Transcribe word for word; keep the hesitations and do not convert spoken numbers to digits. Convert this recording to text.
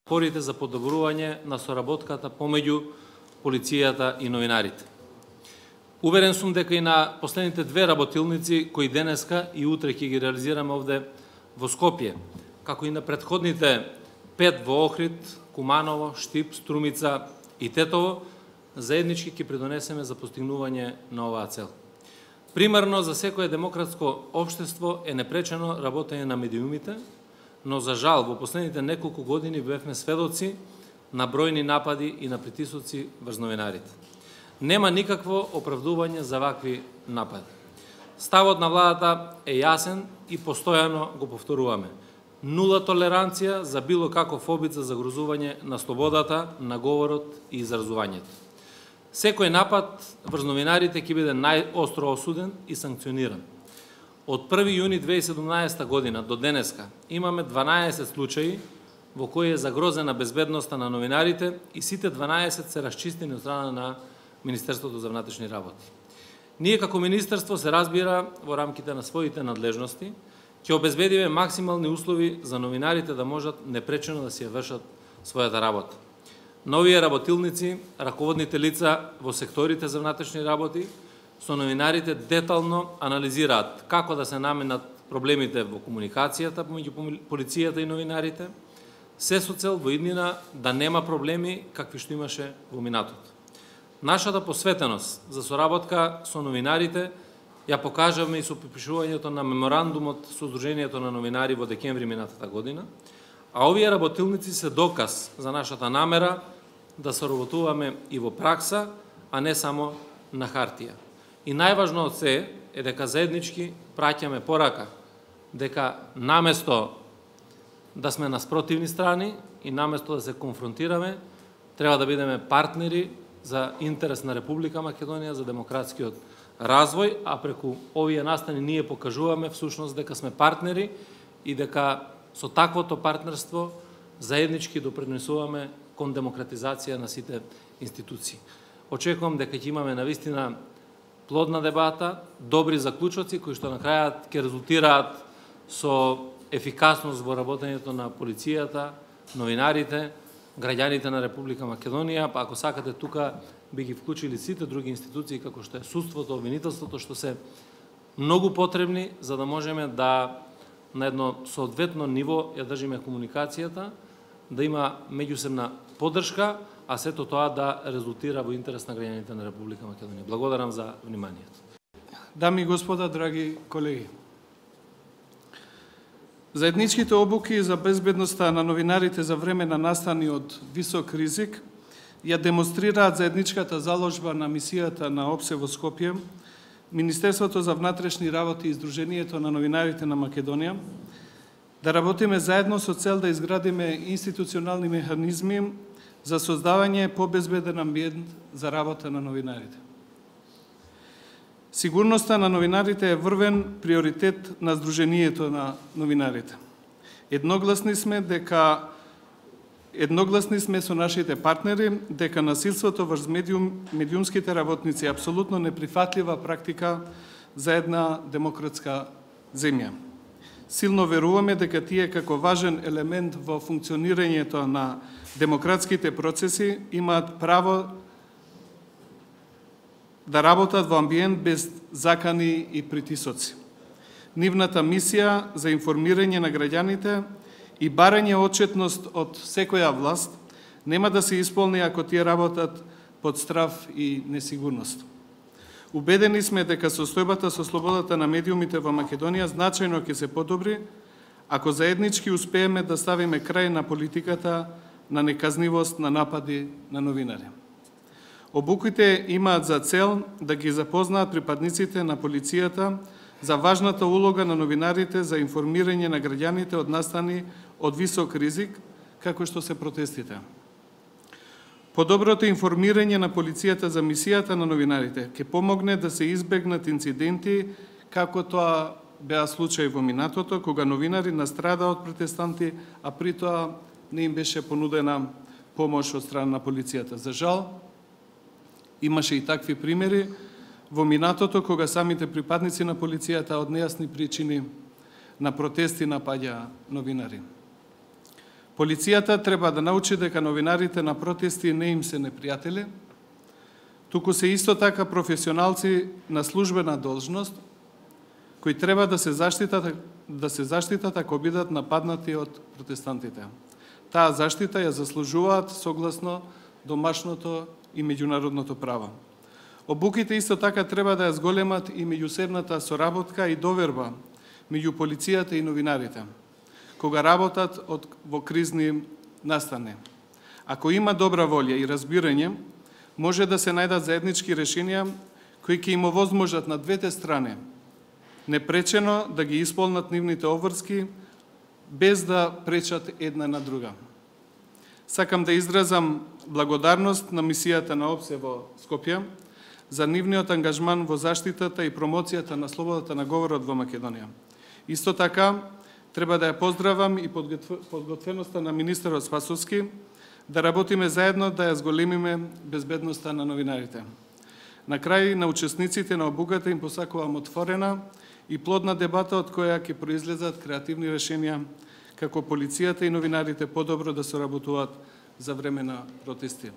Порите за подобрување на соработката помеѓу полицијата и новинарите. Уверен сум дека и на последните две работилници кои денеска и утре ќе ги реализираме овде во Скопје, како и на претходните пет во Охрид, Куманово, Штип, Струмица и Тетово, заеднички ќе придонесеме за постигнување на оваа цел. Примерно за секое демократско општество е непречено работење на медиумите, но за жал во последните неколку години бевме сведоци на бројни напади и на притисоци врз новинарите. Нема никакво оправдување за вакви напади. Ставот на владата е јасен и постојано го повторуваме. Нула толеранција за било каков обид за загрозување на слободата, на говорот и изразувањето. Секој напад врз новинарите ќе биде најостро осуден и санкциониран. Од први јуни две илјади и седумнаесета година до денеска имаме дванаесет случаи во кои е загрозена безбедноста на новинарите и сите дванаесет се расчистени од страна на Министерството за внатрешни работи. Ние како Министерство се разбира во рамките на своите надлежности ќе обезбедиме максимални услови за новинарите да можат непречено да си ја вршат својата работа. Новие работилници, раководните лица во секторите за внатрешни работи со новинарите детално анализираат како да се наменат проблемите во комуникацијата помеѓу полицијата и новинарите, се со цел во иднина да нема проблеми какви што имаше во минатото. Нашата посветеност за соработка со новинарите ја покажавме и со подпишувањето на меморандумот со Сдруженијето на новинари во декември минатата година, а овие работилници се доказ за нашата намера да соработуваме и во пракса, а не само на хартија. И најважно од се е дека заеднички праќаме порака дека наместо да сме на спротивни страни и наместо да се конфронтираме, треба да бидеме партнери за интерес на Република Македонија, за демократскиот развој, а преку овие настани ние покажуваме всушност дека сме партнери и дека со таквото партнерство заеднички допринесуваме кон демократизација на сите институции. Очекувам дека ќе имаме навистина плодна дебата, добри заклучоци кои што на крајот ќе резултираат со ефикасност во работењето на полицијата, новинарите, граѓаните на Република Македонија, па ако сакате тука би ги вклучили сите други институции како што е судството, обвинителството, што се многу потребни за да можеме да на едно соодветно ниво ја држиме комуникацијата, да има меѓусебна поддршка, а сето тоа да резултира во интерес на граѓаните на Република Македонија. Благодарам за вниманието. Дами и господа, драги колеги, заедничките обуки за безбедноста на новинарите за време на настани од висок ризик ја демонстрираат заедничката заложба на мисијата на ОПСЕ во Скопје, Министерството за внатрешни работи и Сдруженијето на новинарите на Македонија, да работиме заедно со цел да изградиме институционални механизми за создавање побезбеден амбиент за работа на новинарите. Сигурноста на новинарите е врвен приоритет на Сдруженијето на новинарите. Едногласни сме дека едногласни сме со нашите партнери дека насилството врз медиум, медиумските работници е апсолутно неприфатлива практика за една демократска земја. Силно веруваме дека тие како важен елемент во функционирањето на демократските процеси имаат право да работат во амбиент без закани и притисоци. Нивната мисија за информирање на граѓаните и барање отчетност од секоја власт нема да се исполни ако тие работат под страв и несигурност. Убедени сме дека состојбата со слободата на медиумите во Македонија значајно ќе се подобри ако заеднички успееме да ставиме крај на политиката на неказнивост на напади на новинари. Обуките имаат за цел да ги запознаат припадниците на полицијата за важната улога на новинарите за информирање на граѓаните од настани од висок ризик, како што се протестите. Подоброто информирање на полицијата за мисијата на новинарите ќе помогне да се избегнат инциденти, како тоа беа случаи во минатото, кога новинари настрада од протестанти, а при тоа не им беше понудена помош од страна на полицијата. За жал, имаше и такви примери во минатото, кога самите припадници на полицијата од нејасни причини на протести напаѓа новинари. Полицијата треба да научи дека новинарите на протести не им се непријатели, туку се исто така професионалци на службена должност, кои треба да се заштитат, да се заштитат ако бидат нападнати од протестантите. Таа заштита ја заслужуваат согласно домашното и меѓународното право. Обуките исто така треба да ја зголемат и меѓусебната соработка и доверба меѓу полицијата и новинарите, кога работат од, во кризни настани. Ако има добра волја и разбирање, може да се најдат заеднички решенија кои ќе им овозможат на двете страни непречено да ги исполнат нивните обврски без да пречат една на друга. Сакам да изразам благодарност на мисијата на ОПСЕ во Скопје за нивниот ангажман во заштитата и промоцијата на слободата на говорот во Македонија. Исто така, треба да ја поздравам и подготвеноста на министерот Спасовски да работиме заедно да ја зголемиме безбедноста на новинарите. На крај, на учесниците на обуката им посакувам отворена и плодна дебата од која ќе произлезат креативни решенија како полицијата и новинарите подобро да соработуваат за време на протести.